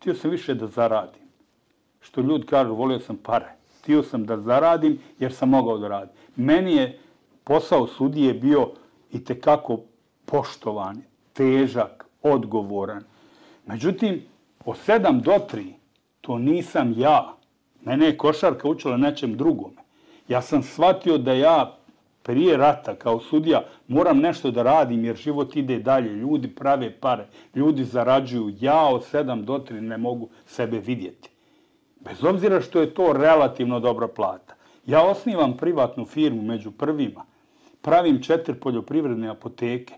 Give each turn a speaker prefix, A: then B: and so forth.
A: htio sam više da zaradim. Što ljudi kažu, volio sam pare. Htio sam da zaradim jer sam mogao da radim. Meni je posao sudije bio itekako poštovan, težak, odgovoran. Međutim, od 7 do 3 to nisam ja. Mene je košarka učila nečem drugome. Ja sam shvatio da ja prije rata kao sudija moram nešto da radim jer život ide dalje. Ljudi prave pare, ljudi zarađuju. Ja od 7 do 3 ne mogu sebe vidjeti. Bez obzira što je to relativno dobra plata. Ja osnivam privatnu firmu među prvima. Pravim 4 poljoprivredne apoteke.